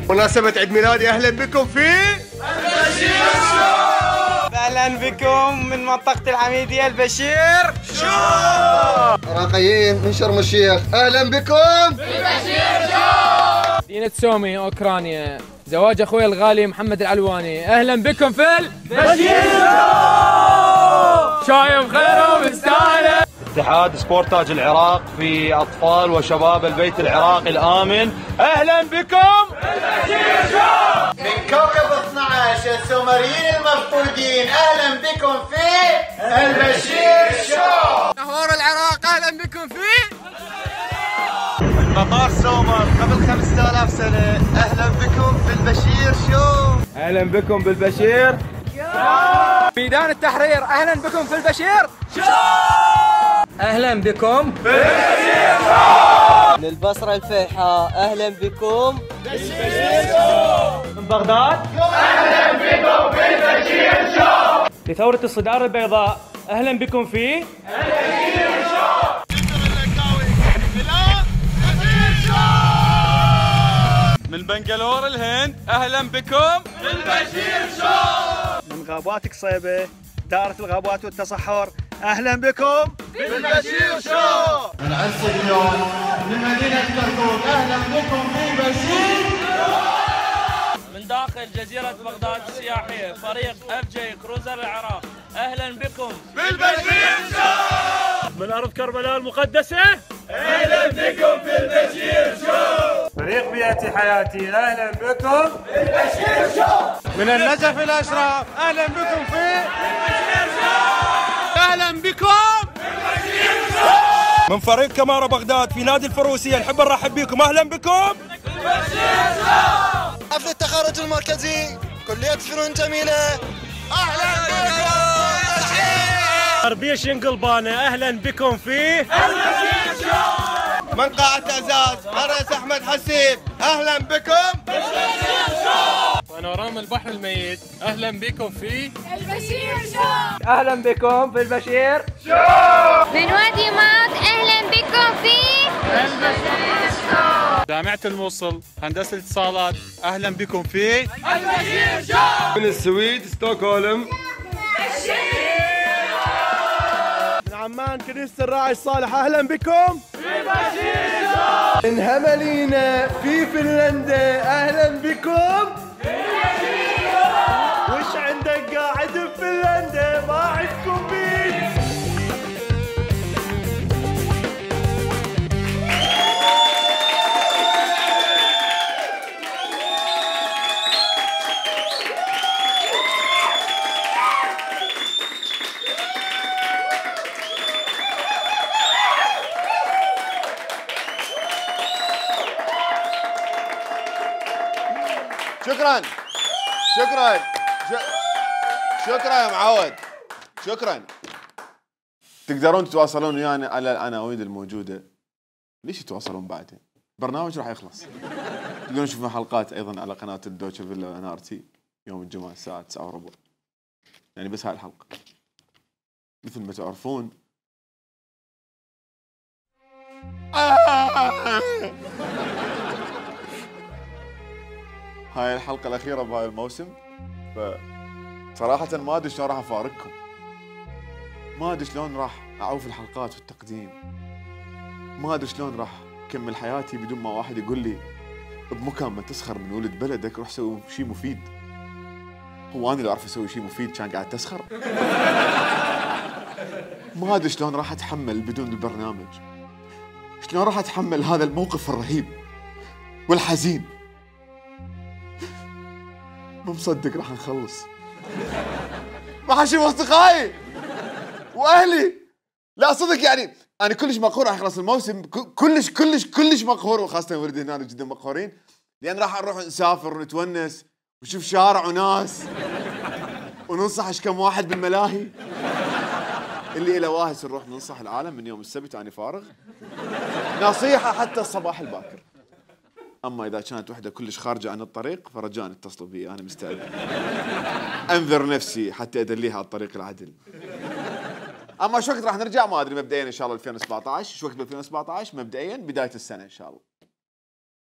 مناسبة عيد ميلادي أهلا بكم في البشير شو. أهلا بكم من منطقة الحميدية البشير شو. عراقيين من شرم الشيخ أهلا بكم في البشير شو. مدينة سومي أوكرانيا زواج أخوي الغالي محمد العلواني أهلا بكم في البشير شو. شايف خير ومستانس. اتحاد سبورتاج العراق في أطفال وشباب البيت العراقي الآمن أهلا بكم البشير شو. من كوكب 12 السومريين المفقودين أهلا بكم في البشير شو. نهور العراق أهلا بكم في مطار سومر قبل 5000 سنة أهلا بكم في البشير شو. أهلا بكم بالبشير ميدان التحرير أهلا بكم في البشير شو. أهلا بكم في البشير شو. للبصرة الفيحاء أهلا بكم بالبشير شو. من بغداد أهلا بكم في البشير شو. لثورة الصدارة البيضاء أهلا بكم في البشير شو. من بنغلور الهند أهلا بكم بالبشير شو. من غابات قصيبة دائرة الغابات والتصحر أهلا بكم بالبشير شو. من عسقلون من مدينة كركوك أهلا بكم في البشير من داخل جزيرة بغداد السياحية فريق FJ كروزر العراق أهلا بكم بالبشير شو. من أرض كربلاء المقدسة أهلا بكم في البشير شو. فريق بيئتي حياتي أهلا بكم البشير شو. من النجف الأشراف أهلا بكم في البشير شو. أهلا بكم البشير شو. من فريق كمارة بغداد في نادي الفروسية نحب نرحب بكم أهلا بكم البشير شو. حفل التخرج المركزي كلية فنون جميلة أهلا بكم غربية شنقلبانة أهلا بكم في البشير شو. من قاعة أعزاز الرئيس أحمد حسيب أهلا بكم البشير شو. بانوراما البحر الميت أهلا بكم في البشير شو. أهلا بكم في البشير من وادي ماط أهلا بكم في البشير شو. جامعة الموصل هندسة الاتصالات أهلا بكم في البشير شو. من السويد ستوكهولم. من عمان كنيسة الراعي الصالح أهلا بكم البشير شو. من هملينا في فنلندا أهلا بكم. وش عندك قاعد بفنلندا ما عندكم بيت. شكرا شكرا شكرا يا معود شكرا. تقدرون تتواصلون ويانا على العناوين الموجودة. ليش تتواصلون بعدين؟ برنامج راح يخلص. تقدرون تشوفون حلقات ايضا على قناة الدوتشا فيلا NRT يوم الجمعة الساعة 9:15. يعني بس هاي الحلقة. مثل ما تعرفون هاي الحلقة الأخيرة بهاي الموسم. فصراحة ما أدري شلون راح أفارقكم. ما أدري شلون راح أعوف الحلقات والتقديم. ما أدري شلون راح أكمل حياتي بدون ما واحد يقول لي بمكان ما تسخر من ولد بلدك روح سوي شيء مفيد. هو أنا اللي أعرف أسوي شيء مفيد كان قاعد تسخر؟ ما أدري شلون راح أتحمل بدون البرنامج. شلون راح أتحمل هذا الموقف الرهيب والحزين. مو مصدق راح نخلص. راح اشوف اصدقائي واهلي. لا صدق يعني انا كلش مقهور راح يخلص الموسم. كلش مقهور وخاصه ولدي هنا جدا مقهورين لان راح نروح نسافر ونتونس ونشوف شارع وناس وننصح ايش كم واحد بالملاهي. اللي له واهس نروح ننصح العالم من يوم السبت انا فارغ. نصيحه حتى الصباح الباكر. اما اذا كانت وحده كلش خارجه عن الطريق فرجاء اتصلوا بي انا مستعد انذر نفسي حتى ادليها على الطريق العدل. اما شو وقت راح نرجع ما ادري. مبدئيا ان شاء الله 2017. شو وقت ب 2017 مبدئيا بدايه السنه ان شاء الله.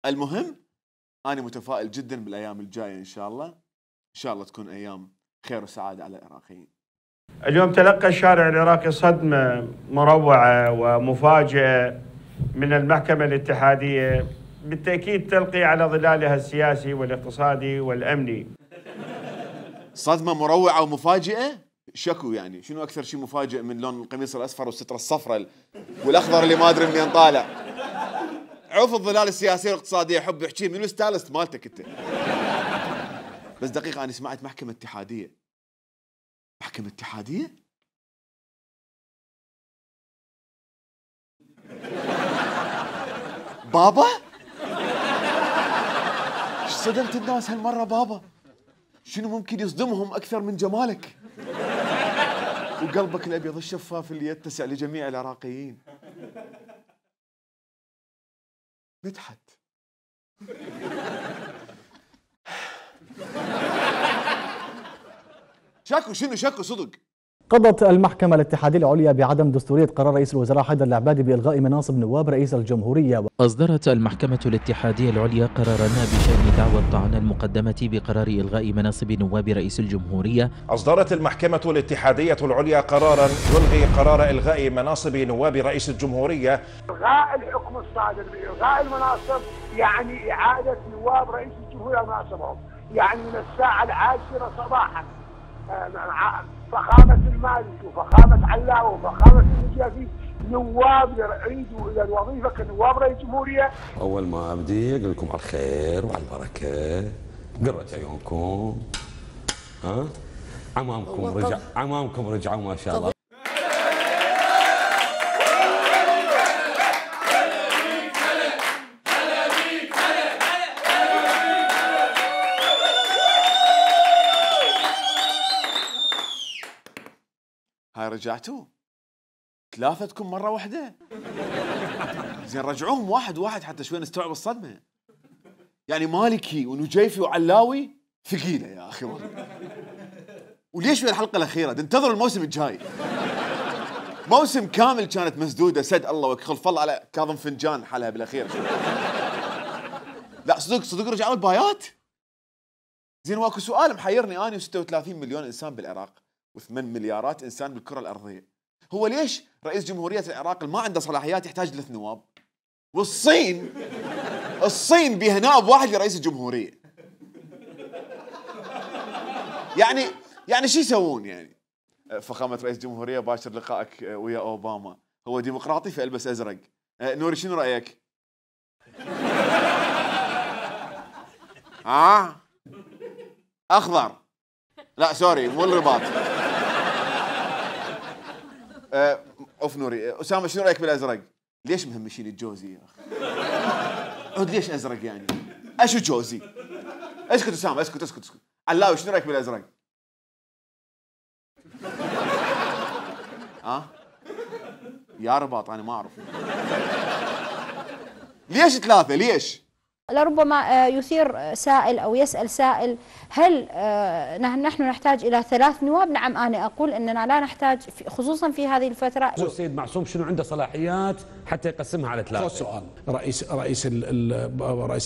المهم انا متفائل جدا بالايام الجايه ان شاء الله، ان شاء الله تكون ايام خير وسعاده على العراقيين. اليوم تلقى الشارع العراقي صدمه مروعه ومفاجئه من المحكمه الاتحاديه، بالتاكيد تلقي على ظلالها السياسي والاقتصادي والامني. صدمه مروعه ومفاجئه؟ شكو يعني، شنو اكثر شيء مفاجئ من لون القميص الاصفر والستره الصفراء والاخضر اللي ما ادري منين طالع؟ عوف الظلال السياسيه والاقتصاديه، حب احكي من الستايلست مالتك انت. بس دقيقه، انا سمعت محكمه اتحاديه. محكمه اتحاديه؟ بابا؟ ايش صدمت الناس هالمره بابا؟ شنو ممكن يصدمهم اكثر من جمالك وقلبك الابيض الشفاف اللي يتسع لجميع العراقيين؟ مدحت شكو صدق. قضت المحكمة الاتحادية العليا بعدم دستورية قرار رئيس الوزراء حيدر العبادي بإلغاء مناصب نواب رئيس الجمهورية. أصدرت المحكمة الاتحادية العليا قرارا بشأن دعوى الطعن المقدمة بقرار إلغاء مناصب نواب رئيس الجمهورية. أصدرت المحكمة الاتحادية العليا قرارا يلغي قرار إلغاء مناصب نواب رئيس الجمهورية. إلغاء الحكم الصادر بإلغاء المناصب يعني إعادة نواب رئيس الجمهورية مناصبهم، يعني من الساعة 10 صباحا فخامة المالكي وفخامة علاوي وفخامة النجافي نواب يعيدوا إلى الوظيفة كنواب رئيس الجمهورية. أول ما أبدي أقول لكم على الخير وعلى البركة، قرة عيونكم، ها؟ عمامكم رجعوا ما شاء الله. هاي رجعتوا ثلاثتكم مرة واحدة؟ زين رجعوهم واحد واحد حتى شوي نستوعب الصدمة. يعني مالكي ونجيفي وعلاوي ثقيلة يا أخي والله. وليش في الحلقة الأخيرة؟ انتظروا الموسم الجاي. موسم كامل كانت مسدودة سد الله وخلف الله على كاظم فنجان حالها بالأخير. لا صدق رجعوا البايات؟ زين واكو سؤال محيرني أنا و36 مليون إنسان بالعراق و8 مليارات إنسان بالكرة الأرضية. هو ليش رئيس جمهورية العراق ما عنده صلاحيات يحتاج 3 نواب؟ والصين بيها نائب واحد لرئيس الجمهورية. يعني شو يسوون يعني؟ فخامة رئيس الجمهورية باشر لقائك ويا أوباما، هو ديمقراطي فألبس أزرق. نوري شنو رأيك؟ أخضر. لا سوري مو الرباط. اوف نوري. اسامه شنو رايك بالازرق؟ ليش مهمشين الجوزي يا اخي؟ عود ليش ازرق يعني؟ اشو جوزي؟ اسكت اسامه اسكت. علاوي شنو رايك بالازرق؟ يا رباط انا ما اعرف. ليش 3 ليش؟ لربما يثير سائل أو يسأل سائل هل نحن نحتاج إلى 3 نواب؟ نعم أنا أقول أننا لا نحتاج خصوصا في هذه الفترة. السيد معصوم شنو عنده صلاحيات حتى يقسمها على 3؟ سؤال. رئيس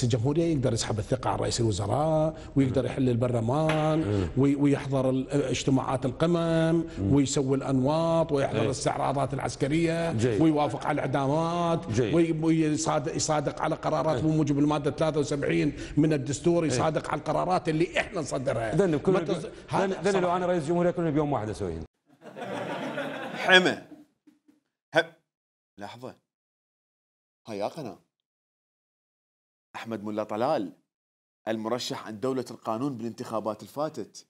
الجمهورية يقدر يسحب الثقة عن رئيس الوزراء ويقدر يحل البرلمان ويحضر اجتماعات القمم ويسوي الأنواط ويحضر الاستعراضات العسكرية ويوافق على الإعدامات ويصادق على قرارات بموجب المادة 73 من الدستور، يصادق على القرارات اللي احنا نصدرها. اذن لو انا رئيس جمهورية كلنا بيوم واحد اسويهن. حمى لحظة، هاي يا قناة أحمد ملا طلال المرشح عن دولة القانون بالانتخابات الفاتت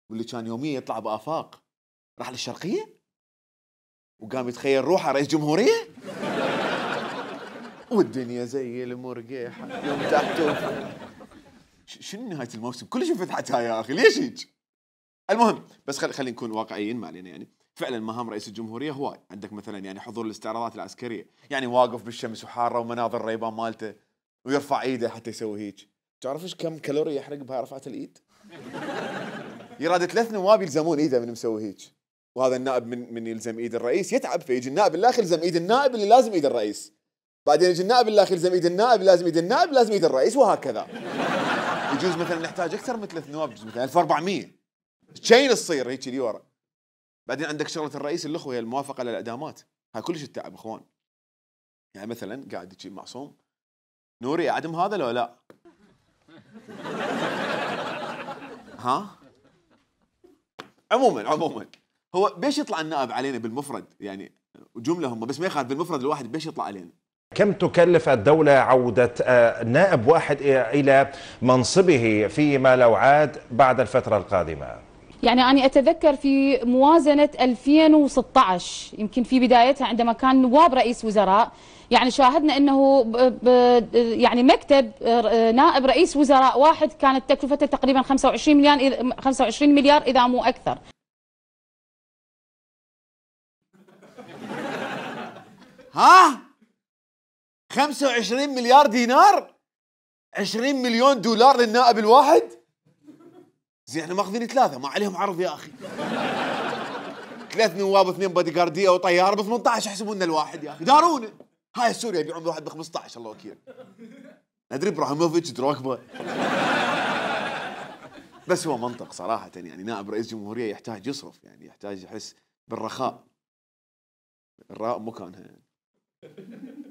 واللي كان يوميا يطلع بآفاق راح للشرقية وقام يتخيل روحه رئيس جمهورية. والدنيا زي المرقيحة يوم تحته. شنو نهاية الموسم؟ كلش انفتحت هاي يا أخي، ليش هيك؟ المهم بس خلينا نكون واقعيين ما علينا. يعني فعلا مهام رئيس الجمهورية هواي، عندك مثلا يعني حضور الاستعراضات العسكرية، يعني واقف بالشمس وحارة ومناظر ريبان مالته ويرفع ايده حتى يسوي هيك. تعرف ايش كم كالوري يحرق بهاي رفعة الايد؟ يراد 3 نواب يلزمون ايده من مسوي هيك، وهذا النائب من يلزم ايد الرئيس يتعب، فيجي النائب الاخر يلزم ايد النائب اللي لازم ايد الرئيس. بعدين يجي النائب الاخير لازم ايد النائب، لازم ايد النائب، لازم ايد الرئيس، وهكذا. يجوز مثلا نحتاج اكثر من 3 نواب، يجوز مثلا 1400 تشين تصير هيك لي ورا. بعدين عندك شغله الرئيس الاخوه هي الموافقه على الاعدامات، هاي كلش التعب اخوان. يعني مثلا قاعد يجي معصوم، نوري اعدم هذا لو لا؟ ها؟ عموما هو بيش يطلع النائب علينا بالمفرد، يعني جمله هم بس ما يخالف بالمفرد الواحد بيش يطلع علينا. كم تكلف الدولة عودة نائب واحد إلى منصبه فيما لو عاد بعد الفترة القادمة؟ يعني أنا أتذكر في موازنة 2016 يمكن في بدايتها عندما كان نواب رئيس وزراء، يعني شاهدنا أنه يعني مكتب نائب رئيس وزراء واحد كانت تكلفته تقريبا 25 مليار إذا مو أكثر. ها؟ 25 مليار دينار؟ 20 مليون دولار للنائب الواحد؟ زين احنا ماخذين 3 ما عليهم عرض يا اخي. 3 نواب و2 بادي جارديه وطياره ب 18 يحسبون الواحد يا اخي، دارونا. هاي سوريا يبيعون بواحد ب 15 الله وكيل. ندري ابراهيموفيتش دروكبا. بس هو منطق صراحه، يعني نائب رئيس جمهوريه يحتاج يصرف، يعني يحتاج يحس بالرخاء. الراء مكانها يعني.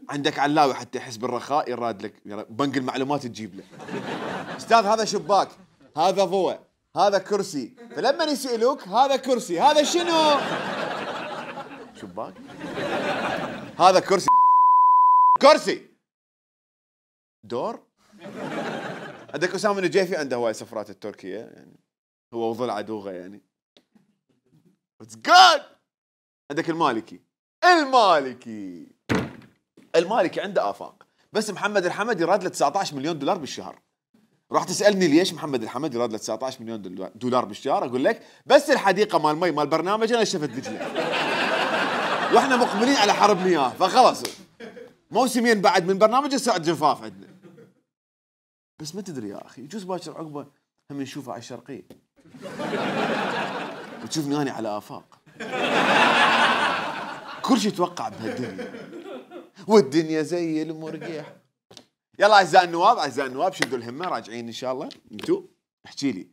عندك علاوي حتى يحس بالرخاء يراد لك بنك المعلومات تجيب له. استاذ هذا شباك، هذا ضوء، هذا كرسي، فلما يسألوك هذا كرسي، هذا شنو؟ شباك؟ هذا كرسي دور؟ عندك أسامة النجيفي عنده هواي سفرات التركية يعني، هو وظل عدوغة يعني. It's good. عندك المالكي عنده آفاق، بس محمد الحمد يراد له 19 مليون دولار بالشهر. راح تسألني ليش محمد الحمد يراد له 19 مليون دولار بالشهر؟ أقول لك بس الحديقة مال مي مال برنامجنا شفت دجلة، واحنا مقبلين على حرب مياه، فخلص موسمين بعد من برنامج السعد جفاف عندنا. بس ما تدري يا أخي، يجوز باكر عقبه هم نشوفه على الشرقية وتشوفني أنا على آفاق. كل شيء يتوقع بهالدنيا، والدنيا زي المرجح. يلا اعزائي النواب شدوا الهمه، راجعين ان شاء الله. انتوا احكي لي،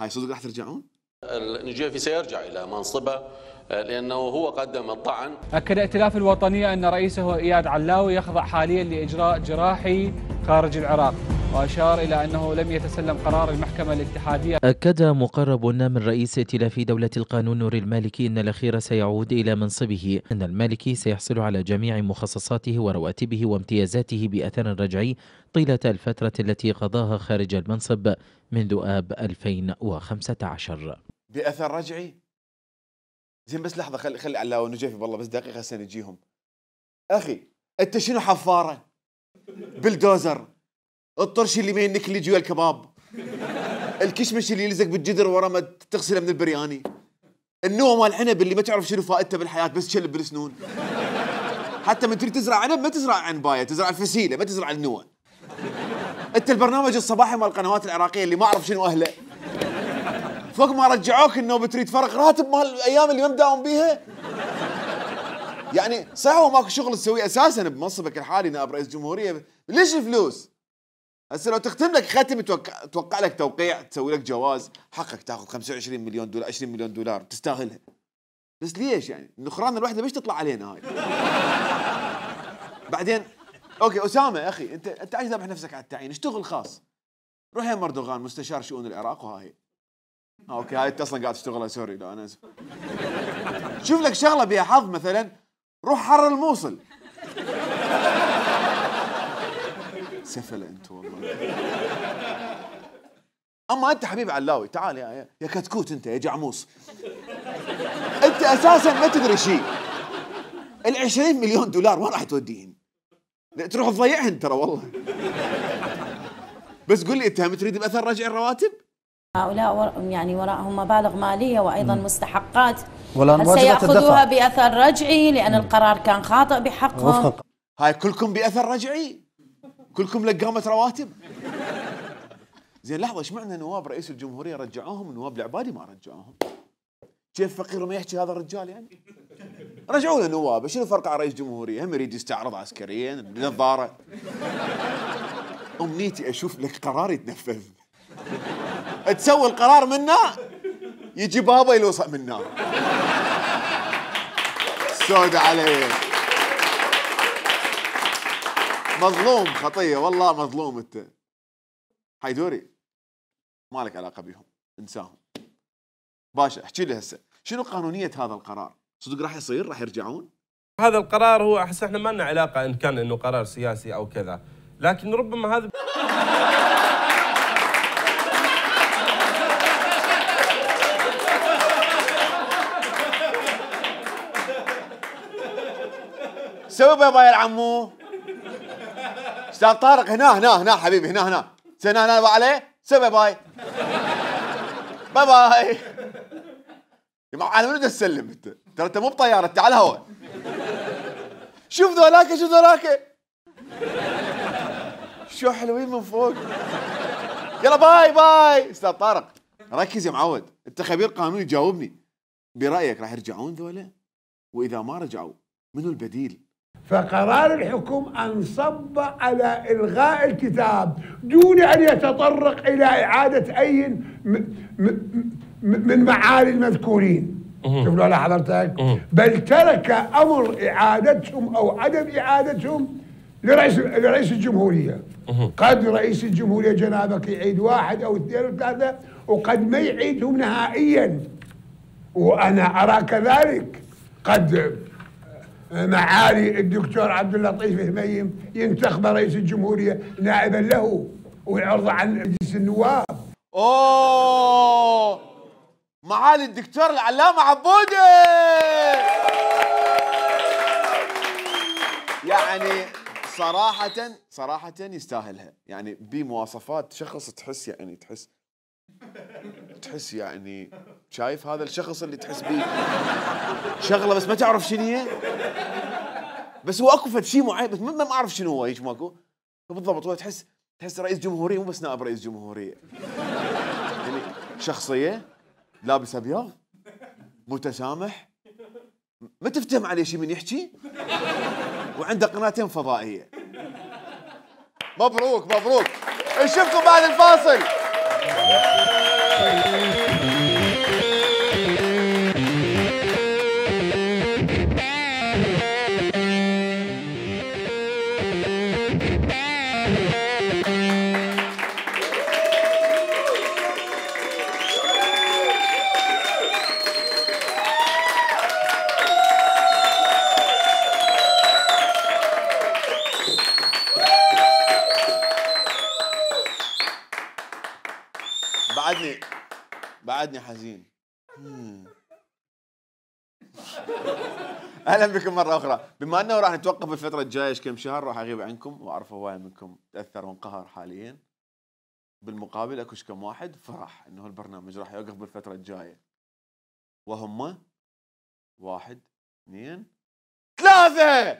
هاي صدق راح ترجعون؟ النجيفي سيرجع الى منصبه لانه هو قدم الطعن. اكد ائتلاف الوطنيه ان رئيسه اياد علاوي يخضع حاليا لاجراء جراحي خارج العراق، واشار الى انه لم يتسلم قرار المحكمه الاتحاديه. اكد مقرب من رئيس ائتلاف دوله القانون نور المالكي ان الاخير سيعود الى منصبه، ان المالكي سيحصل على جميع مخصصاته ورواتبه وامتيازاته باثر رجعي طيله الفتره التي قضاها خارج المنصب منذ اب 2015. باثر رجعي؟ زين بس لحظه، خلي علاوي ونجيفي والله بس دقيقه هسه نجيهم. اخي انت شنو حفاره؟ بلدوزر؟ الطرش اللي ما ينك اللي جوا الكباب، الكشمش اللي يلزق بالجدر ورا ما تغسله من البرياني، النوى مال العنب اللي ما تعرف شنو فائدته بالحياه بس تشلب بالسنون. حتى من تريد تزرع عنب ما تزرع عنبايه، تزرع الفسيله ما تزرع النوى. انت البرنامج الصباحي مال القنوات العراقيه اللي ما اعرف شنو اهله، فوق ما رجعوك انه بتريد فرق راتب مال الايام اللي ما مداوم بيها. يعني صح هو ماكو شغل تسويه اساسا بمنصبك الحالي نائب رئيس جمهوريه، ليش الفلوس؟ هسه لو تختم لك ختم توقع لك توقيع، تسوي لك جواز، حقك تاخذ 25 مليون دولار 20 مليون دولار تستاهلها. بس ليش يعني؟ النخران الوحده ليش تطلع علينا هاي؟ بعدين اوكي اسامه يا اخي انت عايز ذابح نفسك على التعيين، اشتغل خاص. روح يا مردوغان مستشار شؤون العراق وهاي. اوكي هاي انت اصلا قاعد تشتغلها، سوري لا انا اسف. شوف لك شغله بيها حظ مثلا، روح حرر الموصل. سفله انت والله. اما انت حبيب علاوي تعال يا كتكوت، انت يا جعموس، انت اساسا ما تدري شيء. ال20 مليون دولار وين راح توديهن؟ تروح تضيعهن ترى والله. بس قل لي انت هم تريد باثر رجع الرواتب؟ هؤلاء يعني وراءهم مبالغ ماليه وايضا مستحقات، هل سيأخذوها باثر رجعي لان القرار كان خاطئ بحقهم؟ هاي كلكم باثر رجعي؟ كلكم لقامة رواتب؟ زين لحظة، ايش معنى نواب رئيس الجمهورية رجعوهم ونواب العبادي ما رجعوهم؟ كيف فقير ما يحكي هذا الرجال يعني؟ رجعوا له نوابه، شنو فرق على رئيس جمهوريه؟ هم يريد يستعرض عسكريا بنظاره. امنيتي اشوف لك قرار يتنفذ. تسوي القرار منه يجي بابا يلوصق من النار. سود عليه. مظلوم خطيه والله مظلوم انت. حيدوري ما لك علاقه بهم، انساهم. باشا احكي لي هسه شنو قانونيه هذا القرار؟ صدق راح يصير؟ راح يرجعون؟ هذا القرار هو احس احنا ما لنا علاقه ان كان انه قرار سياسي او كذا، لكن ربما هذا سوي باي باي يا عمو. استاذ طارق هنا حبيبي هنا هنا عليه. سوي باي باي. باي باي. يا معلم على منو تسلم انت؟ ترى انت مو بطياره، انت على الهواء. شوف ذولاك شو حلوين من فوق. يلا باي باي. استاذ طارق ركز يا معود، انت خبير قانوني جاوبني. برايك راح يرجعون ذولا؟ واذا ما رجعوا منو البديل؟ فقرار الحكم انصب على الغاء الكتاب دون ان يتطرق الى اعاده اي من معالي المذكورين. شوف لو حضرتك، بل ترك امر اعادتهم او عدم اعادتهم لرئيس الجمهوريه. قد رئيس الجمهوريه جنابك يعيد 1 أو 2 أو 3 وقد ما يعيدهم نهائيا، وانا ارى كذلك. قد معالي الدكتور عبد اللطيف هميم ينتخب رئيس الجمهوريه نائبا له ويعرض عن مجلس النواب. اوه معالي الدكتور العلامه عبوده. يعني صراحه يستاهلها، يعني بمواصفات شخص تحس يعني تحس يعني شايف هذا الشخص اللي تحس بيه شغله بس ما تعرف شنو هي، بس هو اكو فد شيء معين بس ما اعرف شنو هو. هيك ماكو بالضبط. هو تحس رئيس جمهوريه مو بس نائب رئيس جمهوريه، يعني شخصيه لابس ابيض متسامح ما تفتهم عليه شيء من يحكي، وعنده قناتين فضائيه. مبروك نشوفكم بعد الفاصل. بعدني حزين. اهلا بكم مره اخرى. بما انه راح نتوقف الفتره الجايه كم شهر، راح اغيب عنكم واعرف هواي منكم تاثر وانقهر حاليا. بالمقابل اكو كم واحد فرح انه البرنامج راح يوقف بالفتره الجايه، وهم 1 2 3.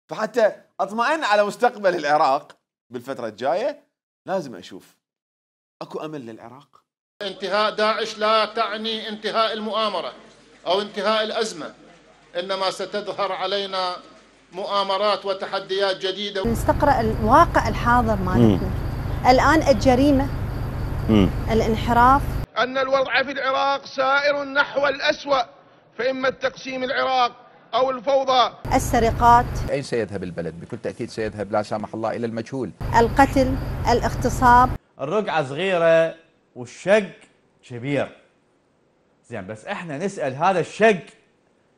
فحتى اطمئن على مستقبل العراق بالفترة الجاية لازم أشوف أكو أمل للعراق. انتهاء داعش لا تعني انتهاء المؤامرة أو انتهاء الأزمة، إنما ستظهر علينا مؤامرات وتحديات جديدة. نستقرأ الواقع الحاضر مالتنا الآن. الجريمة، الانحراف، أن الوضع في العراق سائر نحو الأسوأ، فإما التقسيم العراق أو الفوضى. السرقات. أين سيذهب البلد؟ بكل تأكيد سيذهب لا سامح الله إلى المجهول. القتل، الاغتصاب. الرقعة صغيرة والشق كبير. زين بس احنا نسأل هذا الشق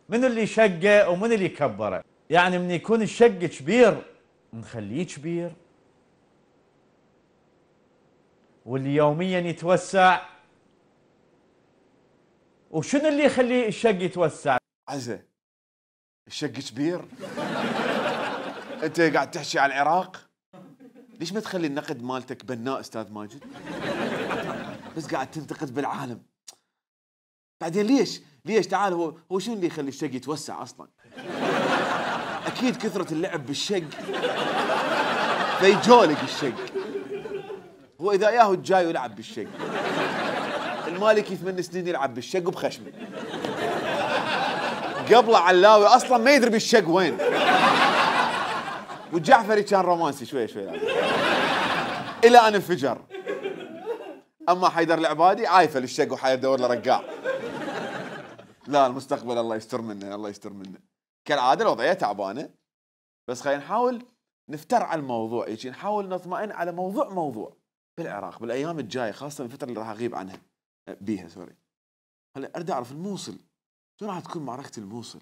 من اللي شقه ومن اللي كبره؟ يعني من يكون الشق كبير نخليه كبير، واللي يوميا يتوسع، وشنو اللي يخليه الشق يتوسع؟ عزة الشق كبير. انت قاعد تحكي على العراق، ليش ما تخلي النقد مالتك بناء استاذ ماجد؟ بس قاعد تنتقد بالعالم. بعدين ليش تعال هو شنو اللي يخلي الشق يتوسع اصلا؟ اكيد كثرة اللعب بالشق فيجولق الشق. هو اذا ياهو الجاي يلعب بالشق المالكي 8 سنين يلعب بالشق وبخشمه. قبله علاوي اصلا ما يدري بالشق وين. والجعفري كان رومانسي شوي شوي الى ان انفجر. اما حيدر العبادي عايفه للشق وحيدور له رقاع. لا المستقبل الله يستر منه، الله يستر منه. كالعاده الوضعيه تعبانه، بس خلينا نحاول نفتر على الموضوع، يجي نحاول نطمئن على موضوع بالعراق بالايام الجايه، خاصه الفتره اللي راح اغيب عنها بيها سوري. هلا اريد اعرف الموصل شو راح تكون معركه الموصل؟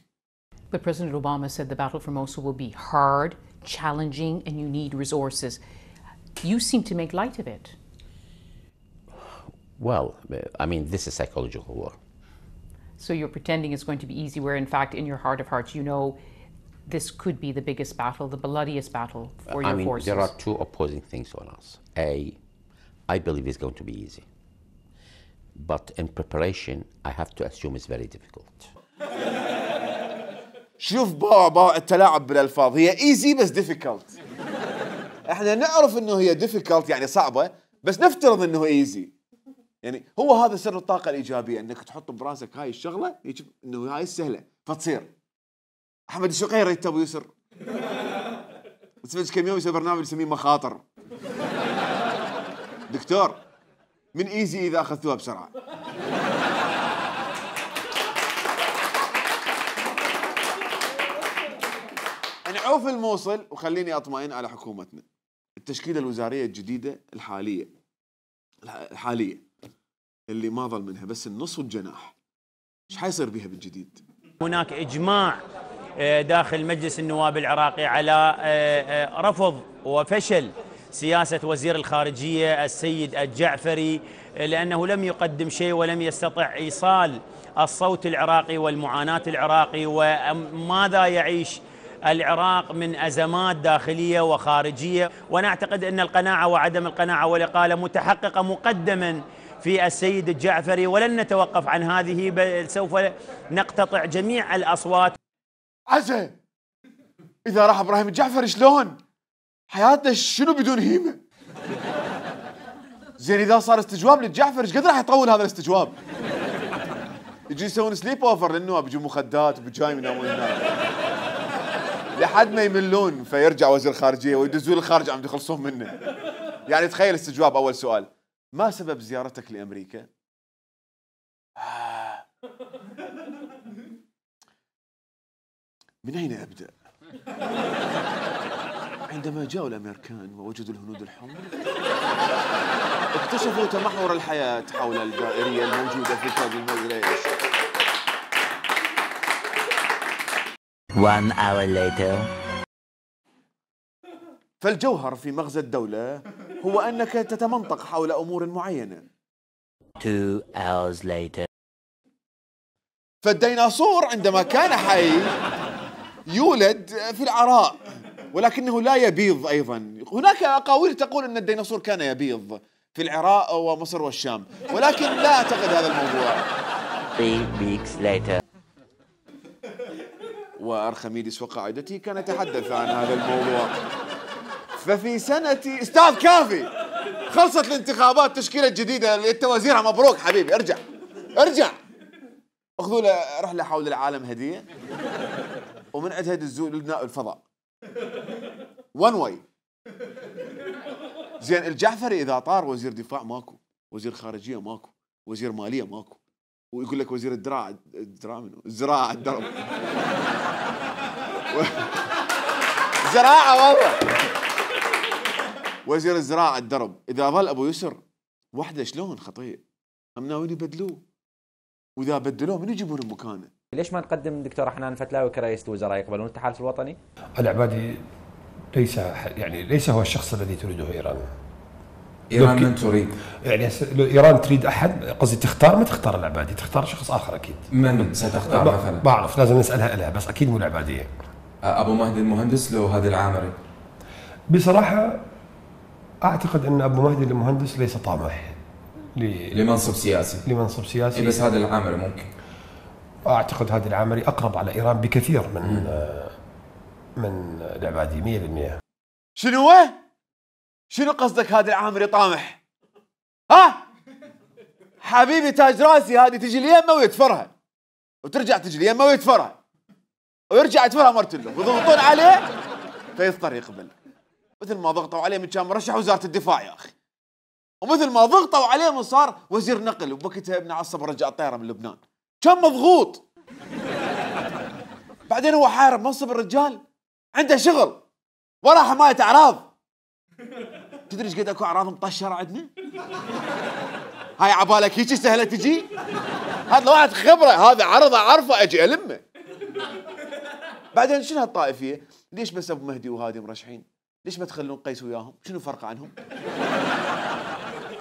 But President Obama said the battle for Mosul will be hard, challenging, and you need resources. You seem to make light of it. Well, I mean, this is psychological war. So you're pretending it's going to be easy, where in fact, in your heart of hearts, you know this could be the biggest battle, the bloodiest battle for your forces. There are two opposing things on us. I believe it's going to be easy. But in preparation, I have to assume it's very difficult. شوف باع التلاعب بالالفاظ، هي ايزي بس ديفيكولت. احنا نعرف انه هي ديفيكولت يعني صعبه، بس نفترض انه ايزي. يعني هو هذا سر الطاقه الايجابيه، انك تحط براسك هاي الشغله يجب انه هاي السهله فتصير. احمد الشقيري يت ابو يسر كم يوم يسوي برنامج يسميه مخاطر. دكتور من ايزي اذا اخذتوها بسرعه. نعوف الموصل وخليني اطمئن على حكومتنا. التشكيله الوزاريه الجديده الحاليه اللي ما ظل منها بس النص والجناح، ايش حيصير بها بالجديد؟ هناك اجماع داخل مجلس النواب العراقي على رفض وفشل سياسة وزير الخارجية السيد الجعفري، لأنه لم يقدم شيء ولم يستطع إيصال الصوت العراقي والمعاناة العراقي وماذا يعيش العراق من أزمات داخلية وخارجية. ونعتقد أن القناعة وعدم القناعة والإقالة متحققة مقدما في السيد الجعفري، ولن نتوقف عن هذه بل سوف نقتطع جميع الأصوات. عزة إذا راح إبراهيم الجعفري شلون؟ حياتنا شنو بدون هيمة؟ زين إذا صار استجواب للجعفر ايش قد راح يطول هذا الاستجواب؟ يجي يسوون سليب اوفر للنواب، يجون مخدات وبجايم ينامون هناك لحد ما يملون، فيرجع وزير الخارجية ويدزون الخارج عم يخلصون منه. يعني تخيل استجواب. أول سؤال: ما سبب زيارتك لأمريكا؟ من أين أبدأ؟ عندما جاءوا الأمريكان ووجدوا الهنود الحمر اكتشفوا تمحور الحياة حول الدائرية الموجودة في كوكب المريخ. 1 hour later. فالجوهر في مغزى الدولة هو أنك تتمنطق حول أمور معينة. 2 hours later. فالديناصور عندما كان حي يولد في العراء ولكنه لا يبيض. أيضا هناك أقاويل تقول أن الديناصور كان يبيض في العراق ومصر والشام، ولكن لا أعتقد هذا الموضوع. 3 weeks later. وأرخميدس وقاعدته كان يتحدث عن هذا الموضوع. ففي سنة استاذ كافي خلصت الانتخابات، تشكيلة جديدة للتوازير. مبروك حبيبي، ارجع اخذوا له رحلة حول العالم هدية، ومن عندها دزوا لنا الفضاء 1 واي. زين الجعفري إذا طار وزير دفاع ماكو، وزير خارجية ماكو، وزير مالية ماكو، ويقول لك وزير الزراعة الدرب زراعة والله، وزير الزراعة الدرب. إذا ظل أبو يسر وحده شلون خطير؟ هم ناويين يبدلوه، وإذا بدلوه من يجيبون مكانه؟ ليش ما نقدم دكتور حنان فتلاوي كرئيس الوزراء؟ يقبلون التحالف الوطني؟ العبادي ليس هو الشخص الذي تريده إيران. إيران من تريد؟ يعني لو إيران تريد أحد، قصدي تختار، ما تختار العبادي، تختار شخص آخر أكيد. من ستختار مثلا؟ ما أعرف، لازم نسألها لها، بس أكيد مو العبادية. أبو مهدي المهندس لو هذا العامري؟ بصراحة أعتقد أن أبو مهدي المهندس ليس طامح لمنصب سياسي. بس هذا العامري ممكن. أعتقد هذا العامري أقرب على إيران بكثير من العبادي 100%. شنو قصدك هذا العامري طامح؟ ها؟ حبيبي تاج راسي هذه تجي اليمه ويتفرها وترجع تجي اليمه ويتفرها ويرجع يتفرها مرتين ويضغطون عليه فيضطر يقبل. مثل ما ضغطوا عليه من كان مرشح وزاره الدفاع يا اخي، ومثل ما ضغطوا عليه من صار وزير نقل، وبوقتها ابن عصب رجع الطياره من لبنان، كان مضغوط. بعدين هو حارب منصب الرجال، عنده شغل وراه حمايه اعراض. تدري ايش قد اكو اعراض مطشره عندنا؟ هاي عبالك هيك سهله تجي؟ هذا واحد خبره، هذا عرض اعرفه اجي المه. بعدين شنو هالطائفيه؟ ليش بس ابو مهدي وهادي مرشحين؟ ليش ما تخلون قيس وياهم؟ شنو فرق عنهم؟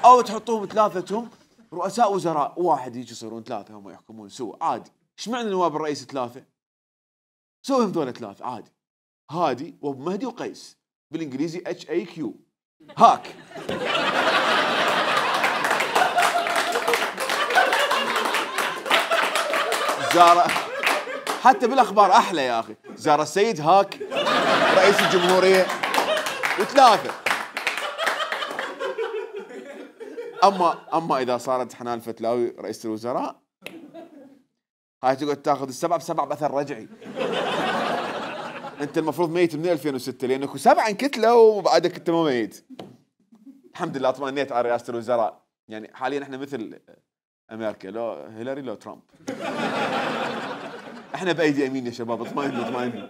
او تحطوهم ثلاثتهم رؤساء وزراء، وواحد يجي يصيرون ثلاثه هم يحكمون سوا عادي. ايش معنى نواب الرئيس ثلاثه؟ سويهم ذولا ثلاثه عادي، هادي وابو مهدي وقيس، بالانجليزي HAQ هاك. زار حتى بالاخبار احلى يا اخي، زار السيد هاك رئيس الجمهوريه وثلاثه. اما اذا صارت حنان الفتلاوي رئيس الوزراء، هاي تقعد تاخذ السبعه بسبع باثر رجعي. انت المفروض ميت من 2006 لانك 7 انكتله وبعدك انت ما ميت. الحمد لله اطمئنيت على رئاسه الوزراء، يعني حاليا احنا مثل امريكا، لو هيلاري لو ترامب. احنا بايدي امين يا شباب، اطمئنوا.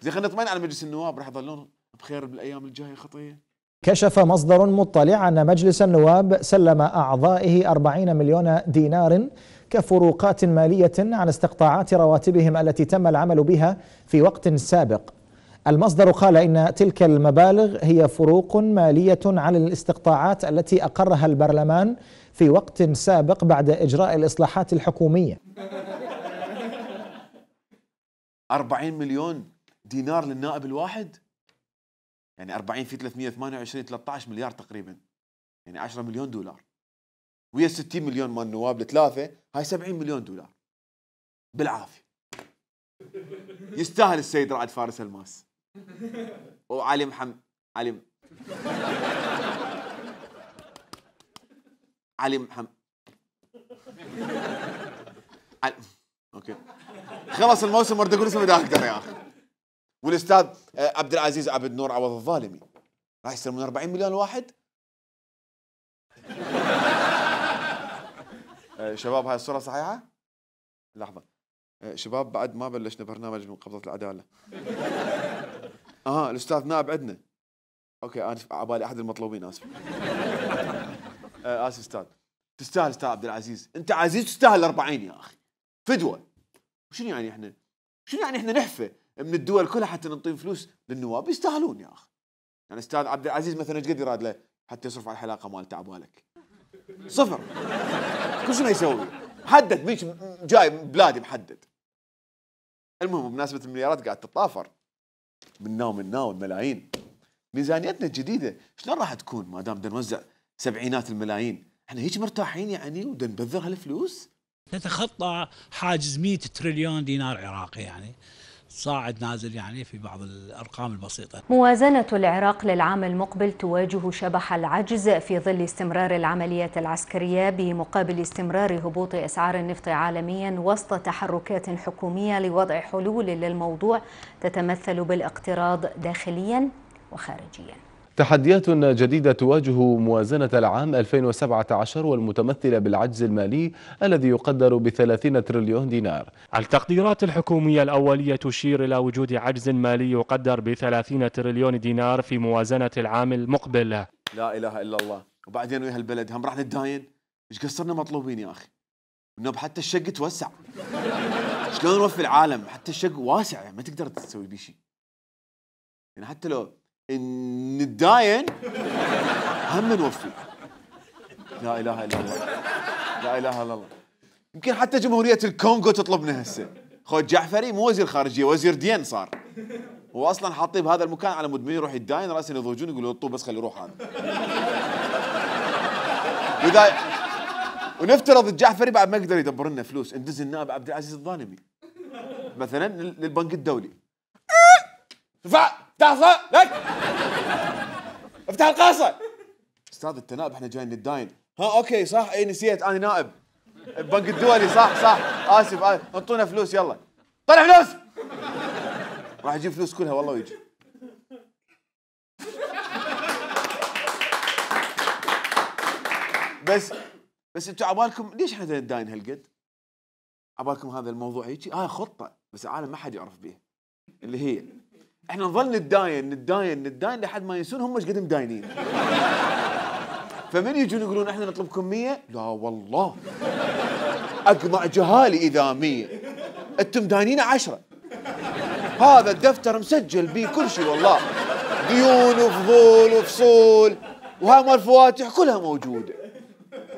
زين خلينا نطمئن على مجلس النواب، راح يظلون بخير بالايام الجايه خطيه. كشف مصدر مطلع أن مجلس النواب سلم أعضائه 40 مليون دينار كفروقات مالية عن استقطاعات رواتبهم التي تم العمل بها في وقت سابق. المصدر قال إن تلك المبالغ هي فروق مالية على الاستقطاعات التي أقرها البرلمان في وقت سابق بعد إجراء الإصلاحات الحكومية. 40 مليون دينار للنائب الواحد؟ يعني 40 في 328 13 مليار تقريبا، يعني 10 مليون دولار، ويا 60 مليون مال النواب الثلاثه، هاي 70 مليون دولار بالعافيه. يستاهل السيد رائد فارس الماس وعلي اوكي خلص الموسم، اريد اقول اسمه اذا اقدر يا اخي. والاستاذ عبد العزيز عبد النور عوض الظالمي راح يستلمون 40 مليون الواحد. شباب هاي الصورة صحيحة؟ لحظة شباب، بعد ما بلشنا برنامج من قبضة العدالة. الاستاذ نائب عندنا. اوكي اسف، عبالي احد المطلوبين، اسف. اسف استاذ. تستاهل استاذ عبد العزيز، انت عزيز تستاهل 40 يا اخي، فدوة. شنو يعني احنا؟ شنو يعني احنا نحفه من الدول كلها حتى نعطيهم فلوس للنواب؟ يستاهلون يا اخي. يعني استاذ عبد العزيز مثلا ايش قد يراد له حتى يصرف على الحلاقه مالته عبالك؟ صفر. كل شنو يسوي؟ محدد، بيش جاي بلادي محدد. المهم بمناسبه المليارات قاعد تتطافر منا والملايين. ميزانيتنا الجديده شلون راح تكون ما دام بدنا نوزع سبعينات الملايين؟ احنا هيك مرتاحين يعني وبدنا نبذر هالفلوس؟ نتخطى حاجز 100 تريليون دينار عراقي، يعني صاعد نازل يعني في بعض الأرقام البسيطة. موازنة العراق للعام المقبل تواجه شبح العجز في ظل استمرار العمليات العسكرية بمقابل استمرار هبوط أسعار النفط عالميا وسط تحركات حكومية لوضع حلول للموضوع تتمثل بالاقتراض داخليا وخارجيا. تحديات جديدة تواجه موازنة العام 2017 والمتمثلة بالعجز المالي الذي يقدر ب30 تريليون دينار. التقديرات الحكومية الأولية تشير إلى وجود عجز مالي يقدر ب30 تريليون دينار في موازنة العام المقبل. لا إله إلا الله. وبعدين ويا هالبلد هم راح نتداين؟ إيش قصرنا مطلوبين يا أخي؟ النوب حتى الشق توسع. شلون نوفي العالم؟ حتى الشق واسع، يعني ما تقدر تسوي بيه شيء. يعني حتى لو نتداين هم نوفي. لا اله الا الله، لا اله الا الله. يمكن حتى جمهورية الكونغو تطلبنا هسه. خو جعفري مو وزير خارجية، وزير دين صار. هو اصلا حاطيه بهذا المكان على مود من يروح يتداين راسا يضوجون يقولوا الطوب بس خلي يروح هذا. واذا ونفترض الجعفري بعد ما يقدر يدبر لنا فلوس، ندز النائب عبد العزيز الظالمي مثلا للبنك الدولي. افتح لك، افتح القاصة. استاذ التنائب احنا جايين نتداين، ها اوكي صح، اي نسيت انا نائب البنك الدولي، صح اسف انطونا فلوس يلا طلع فلوس. راح يجيب فلوس كلها والله ويجي. بس انتم عبالكم ليش احنا نداين هالقد؟ عبالكم هذا الموضوع هيك خطه بس العالم ما حد يعرف بيها، اللي هي احنا نظل نداين لحد ما ينسون هم ايش قد مداينين. فمن يجون يقولون احنا نطلبكم 100، لا والله اقمع جهالي اذا 100 انتم داينين 10. هذا الدفتر مسجل بيه كل شيء والله، ديون وفضول وفصول وهاي مال الفواتح كلها موجوده.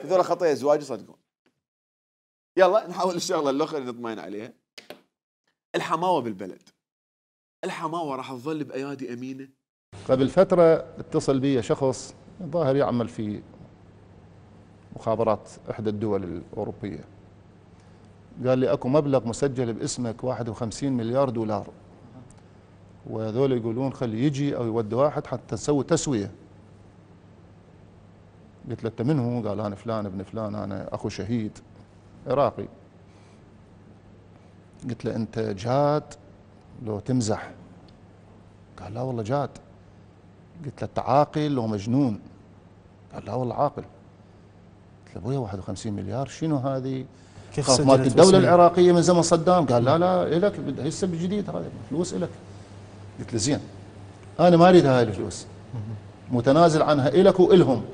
هذول خطايا ازواج صدقون. يلا نحاول الشغله الاخرى اللي نطمئن عليها، الحماوه بالبلد. الحماوه راح تظل بايادي امينه. قبل فتره اتصل بي شخص ظاهر يعمل في مخابرات احدى الدول الاوروبيه، قال لي اكو مبلغ مسجل باسمك 51 مليار دولار، وهذول يقولون خلي يجي او يودي واحد حتى نسوي تسويه. قلت له انت من هو؟ قال انا فلان ابن فلان، انا اخو شهيد عراقي. قلت له انت جاد لو تمزح؟ قال لا والله جاد. قلت له انت عاقل لو مجنون؟ قال لا والله عاقل. قلت له ابويا 51 مليار شنو هذه؟ كيف مالت الدولة العراقية من زمن صدام. قال لا الك هسه بالجديد هذا فلوس الك. قلت له زين انا ما اريد هاي الفلوس، متنازل عنها الك والهم،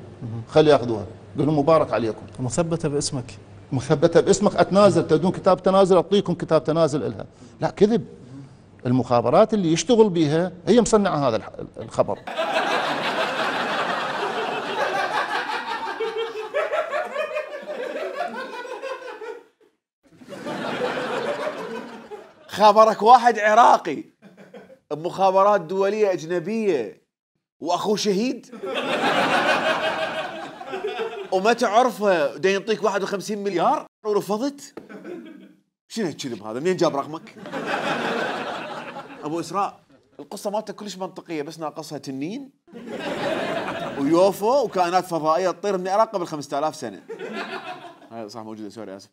خلي ياخذوها. قل لهم مبارك عليكم. مثبته باسمك. مثبته باسمك اتنازل، تريدون كتاب تنازل اعطيكم كتاب تنازل الها. لا كذب، المخابرات اللي يشتغل بيها هي مصنعه هذا الخبر. خبرك واحد عراقي بمخابرات دولية أجنبية وأخوه شهيد وما تعرفه دا ينطيك 51 مليار ورفضت؟ شنو هالكذب هذا؟ منين جاب رقمك؟ أبو إسراء القصة مالته كلش منطقية، بس ناقصها تنين ويوفو وكائنات فضائية تطير من العراق قبل 5000 سنة. هاي صح موجودة، سوري آسف.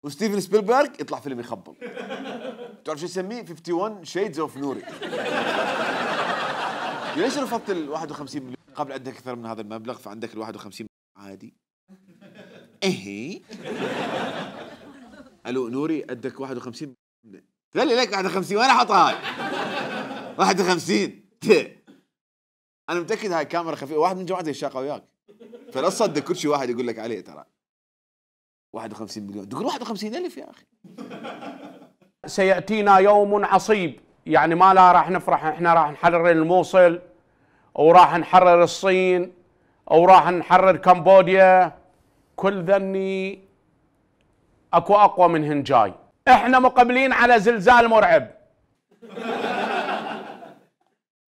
وستيفن سبيلبرغ يطلع فيلم يخبل. تعرف شو يسميه؟ 51 شيدز اوف نوري. ليش رفضت ال 51 مليون؟ قبل عندك اكثر من هذا المبلغ فعندك ال 51 عادي. ايه الو نوري عندك 51 قال لي لك 51 وين احطها؟ 51 انا متاكد هاي كاميرا خفيفه، واحد من جماعتي الشاقه وياك، فلا تصدق كل شيء واحد يقول لك عليه. ترى 51 مليون تقول 51,000 يا اخي. سيأتينا يوم عصيب، يعني ما لا راح نفرح، احنا راح نحرر الموصل وراح نحرر الصين او راح نحرر كمبوديا، كل ذني اكو اقوى منهن جاي. احنا مقبلين على زلزال مرعب.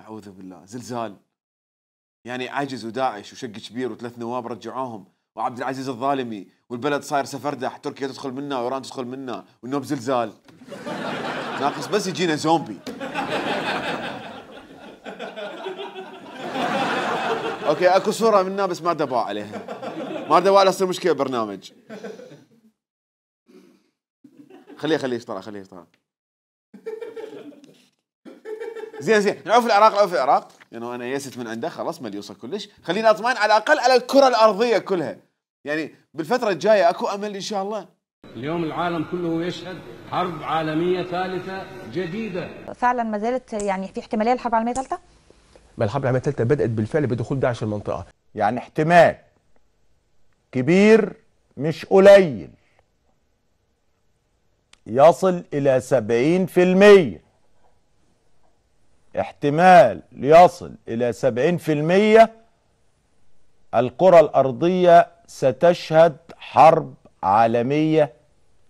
اعوذ بالله، زلزال يعني عجز وداعش وشق كبير وثلاث نواب رجعوهم وعبد العزيز الظالمي والبلد صاير سفردح، تركيا تدخل منا وايران تدخل منا والنوب زلزال. ناقص بس يجينا زومبي. اوكي اكو صورة منا بس ما دبوا عليها، ما دبوا على تصير مشكلة برنامج. خليه يشتغل خليه يشتغل. زين نعوف العراق يعني انا يست من عنده خلاص ما يوصل كلش، خلينا اطمئن على الاقل على الكرة الارضية كلها، يعني بالفترة الجاية اكو امل ان شاء الله. اليوم العالم كله يشهد حرب عالمية ثالثة جديدة. فعلا ما زالت يعني في احتمالية للحرب العالمية الثالثة؟ ما الحرب العالمية الثالثة بدأت بالفعل بدخول داعش المنطقة. يعني احتمال كبير مش قليل يصل إلى 70%، احتمال يصل إلى 70% الكرة الأرضية ستشهد حرب عالمية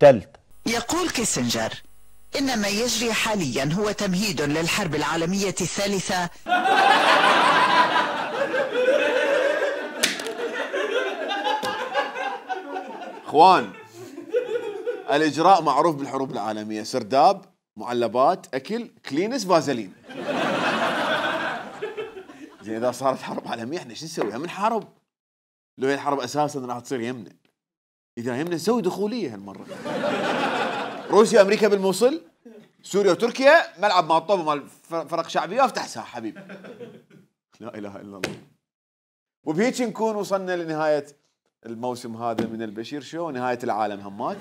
ثالثة. يقول كيسنجر إن ما يجري حاليا هو تمهيد للحرب العالمية الثالثة. اخوان الاجراء معروف بالحروب العالميه، سرداب، معلبات، اكل، كلينس، فازلين. زين اذا صارت حرب عالميه احنا شو نسوي؟ هم نحارب. لو هي الحرب اساسا راح تصير يمنا. اذا يمنا نسوي دخوليه هالمره. روسيا وامريكا بالموصل، سوريا وتركيا ملعب مال طوب مال فرق شعبيه، افتح ساحه حبيبي. لا اله الا الله. وبهيك نكون وصلنا لنهايه الموسم هذا من البشير شو، ونهايه العالم همات.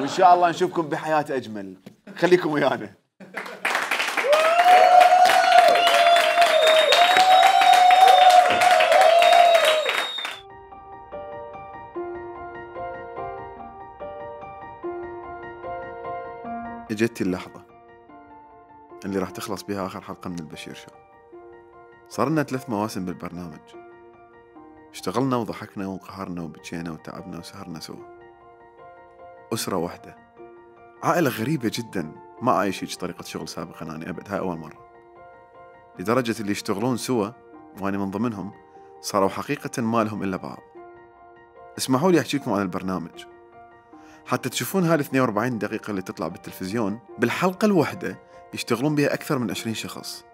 وان شاء الله نشوفكم بحياه اجمل. خليكم ويانا. اجت اللحظة اللي راح تخلص بها آخر حلقة من البشير شو. صار لنا 3 مواسم بالبرنامج، اشتغلنا وضحكنا وانقهرنا وبكينا وتعبنا وسهرنا سوا. أسرة واحدة، عائلة غريبة جدا، ما عايش هيك طريقة شغل سابقا أنا أبد، هاي أول مرة. لدرجة اللي يشتغلون سوا وأنا من ضمنهم صاروا حقيقة ما لهم إلا بعض. اسمحوا لي أحكي لكم عن البرنامج حتى تشوفون هاي 42 دقيقة اللي تطلع بالتلفزيون بالحلقة الواحدة يشتغلون بها أكثر من 20 شخص.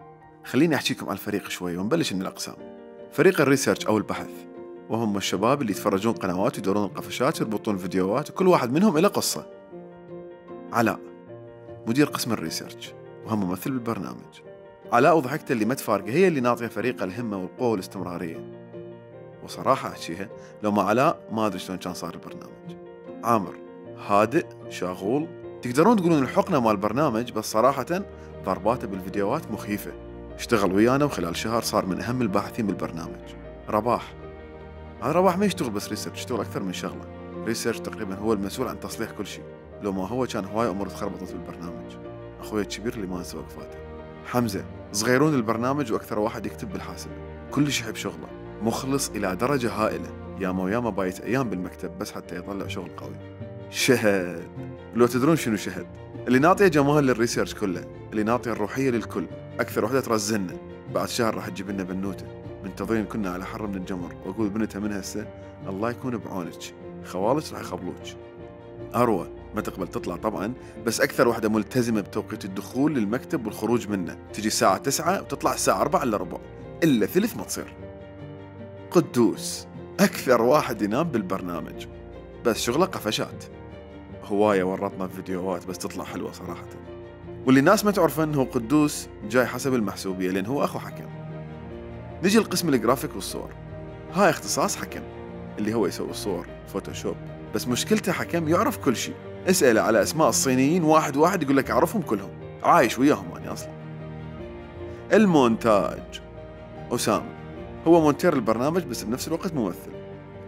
خليني أحكيكم عن الفريق شوي ونبلش من الأقسام. فريق الريسيرش أو البحث، وهم الشباب اللي يتفرجون قنوات ويدورون القفشات ويربطون فيديوهات، وكل واحد منهم له قصة. علاء مدير قسم الريسيرش وهم ممثل بالبرنامج. علاء وضحكته اللي ما تفارقه هي اللي ناطية فريق الهمة والقوة والاستمرارية. وصراحة أحكيها لو ما علاء ما أدري شلون كان صار البرنامج. عامر هادئ شاغول، تقدرون تقولون الحقنة مال البرنامج، بس صراحة ضرباته بالفيديوهات مخيفة. اشتغل ويانا وخلال شهر صار من أهم الباحثين بالبرنامج. رباح، هذا رباح ما يشتغل بس ريسيرش، يشتغل أكثر من شغلة. ريسيرش تقريبا هو المسؤول عن تصليح كل شيء، لو ما هو كان هواي أمور تخربطت بالبرنامج. أخوي الكبير اللي ما نسى وقفاته. حمزة صغيرون البرنامج وأكثر واحد يكتب بالحاسبة، كلش يحب شغله، مخلص إلى درجة هائلة، ياما وياما بايت أيام بالمكتب بس حتى يطلع شغل قوي. شهد، لو تدرون شنو شهد؟ اللي ناطيه جمال للريسيرش كله، اللي ناطيه الروحيه للكل، اكثر وحده ترزلنا. بعد شهر راح تجيب لنا بنوته، منتظرين كنا على حر من الجمر، واقول بنتها من هسه الله يكون بعونك، خوالك راح يقبلوك. اروى ما تقبل تطلع طبعا، بس اكثر وحده ملتزمه بتوقيت الدخول للمكتب والخروج منه، تجي الساعه 9 وتطلع الساعه 4 الا ربع، الا ثلث ما تصير. قدوس اكثر واحد ينام بالبرنامج، بس شغله قفشات، هواية ورطنا بفيديوهات بس تطلع حلوة صراحة. واللي الناس ما تعرف انه قدوس جاي حسب المحسوبية لأن هو أخو حكم. نجي لقسم الجرافيك والصور، هاي اختصاص حكم اللي هو يسوي الصور فوتوشوب، بس مشكلته حكم يعرف كل شيء. اسأله على أسماء الصينيين واحد واحد يقول لك أعرفهم كلهم، عايش وياهم أنا أصلا. المونتاج، أسامة هو مونتير البرنامج بس بنفس الوقت ممثل،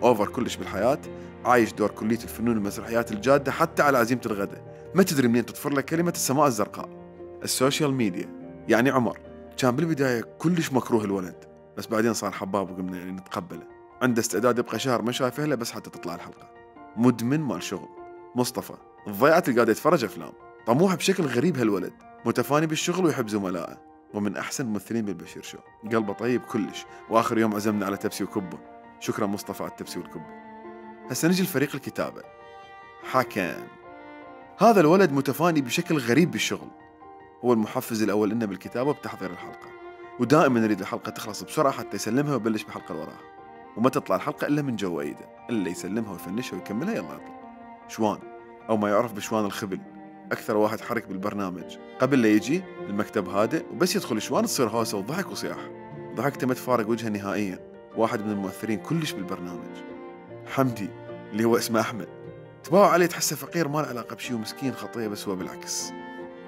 أوفر كلش بالحياة، عايش دور كلية الفنون والمسرحيات الجادة حتى على عزيمة الغداء، ما تدري منين تطفر لك كلمة السماء الزرقاء. السوشيال ميديا، يعني عمر كان بالبداية كلش مكروه الولد، بس بعدين صار حباب وقمنا يعني نتقبله. عنده استعداد يبقى شهر ما شايفه له بس حتى تطلع الحلقة. مدمن مال شغل. مصطفى الضيعت اللي قاعد يتفرج أفلام، طموح بشكل غريب هالولد، متفاني بالشغل ويحب زملائه، ومن أحسن الممثلين بالبشير شو، قلبه طيب كلش، وآخر يوم عزمنا على تبسي وكبة. شكرا مصطفى على التبسي والكبة. هسه نجي لفريق الكتابة. حكم هذا الولد متفاني بشكل غريب بالشغل، هو المحفز الأول لنا بالكتابة وبتحضير الحلقة، ودائما يريد الحلقة تخلص بسرعة حتى يسلمها ويبلش بالحلقة اللي وراها، وما تطلع الحلقة إلا من جوا إيده، إلا يسلمها ويفنشها ويكملها يلا يطلع. شوان أو ما يعرف بشوان الخبل، أكثر واحد حرك بالبرنامج، قبل لا يجي المكتب هادئ وبس يدخل شوان تصير هوسة وضحك وصياح، ضحكته ما تفارق وجهه نهائيا، واحد من المؤثرين كلش بالبرنامج. حمدي اللي هو اسمه أحمد، تباوع عليه تحسه فقير ما له علاقة بشي ومسكين خطية، بس هو بالعكس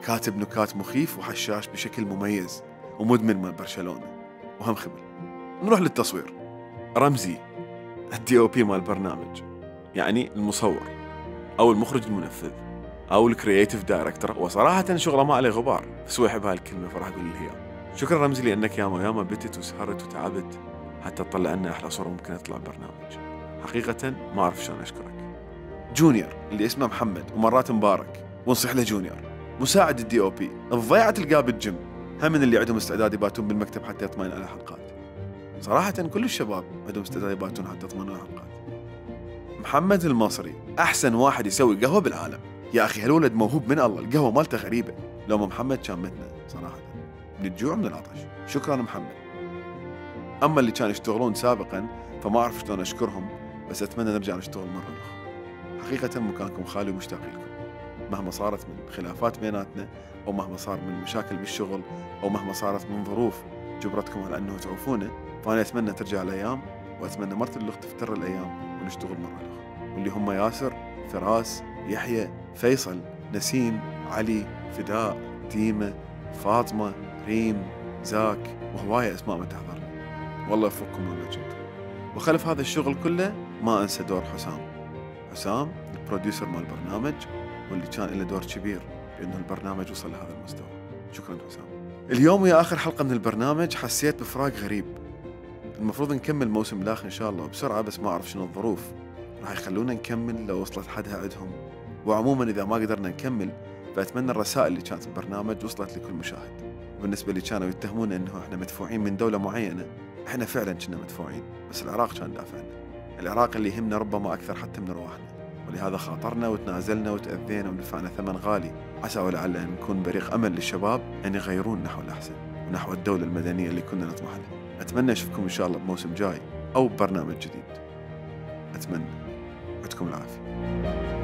كاتب نكات مخيف وحشاش بشكل مميز، ومدمن مال برشلونة وهم خبل. نروح للتصوير. رمزي الدي او بي مال البرنامج، يعني المصور أو المخرج المنفذ أو الكرياتيف دايركتور، وصراحة شغله ما عليه غبار، بس هو يحب هالكلمة فراح أقول له إياها. شكرا رمزي لأنك ياما بتت وسهرت وتعبت حتى تطلع لنا أحلى صورة ممكن تطلع البرنامج، حقيقة ما أعرف شلون أشكرك. جونيور اللي اسمه محمد ومرات مبارك ونصيح له جونيور، مساعد الدي او بي، الضيعة تلقاه بالجيم، هم من اللي عندهم استعداد يباتون بالمكتب حتى يطمئن على الحلقات. صراحة كل الشباب عندهم استعداد يباتون حتى يطمئنون على الحلقات. محمد المصري أحسن واحد يسوي قهوة بالعالم، يا أخي هالولد موهوب من الله، القهوة مالته غريبة، لو ما محمد كان متنا صراحة من الجوع من العطش. شكرا محمد. أما اللي كانوا يشتغلون سابقا فما أعرف شلون أشكرهم، بس أتمنى نرجع نشتغل مرة أخرى. حقيقة مكانكم خالي ومشتاق لكم، مهما صارت من خلافات بيناتنا، أو مهما صار من مشاكل بالشغل، أو مهما صارت من ظروف جبرتكم على أنه تعوفونا، فأنا أتمنى ترجع الأيام، وأتمنى مرة الأخت تفتر الأيام ونشتغل مرة أخرى. واللي هم ياسر، فراس، يحيى، فيصل، نسيم، علي، فداء، ديمة، فاطمة، ريم، زاك، وهواية أسماء ما تحضرني. والله يوفقكم وين ما كنتم. وخلف هذا الشغل كله ما أنسى دور حسام البروديوسر مال البرنامج، واللي كان له دور كبير بأنه البرنامج وصل لهذا المستوى. شكرا حسام. اليوم ويا آخر حلقة من البرنامج حسيت بفراق غريب. المفروض نكمل موسم الآخر إن شاء الله بسرعة، بس ما أعرف شنو الظروف راح يخلونا نكمل لو وصلت حدها عندهم. وعموما إذا ما قدرنا نكمل فأتمنى الرسائل اللي كانت بالبرنامج وصلت لكل مشاهد. وبالنسبة اللي كانوا يتهمون إنه إحنا مدفوعين من دولة معينة، إحنا فعلا كنا مدفوعين، بس العراق كان دافعنا. العراق اللي يهمنا ربما أكثر حتى من رواحنا، ولهذا خاطرنا وتنازلنا وتأذينا ودفعنا ثمن غالي، عسى ولعل أن نكون بريق أمل للشباب أن يغيرون نحو الأحسن ونحو الدولة المدنية اللي كنا نطمح لها. أتمنى أشوفكم إن شاء الله بموسم جاي أو ببرنامج جديد. أتمنى. يعطيكم العافية.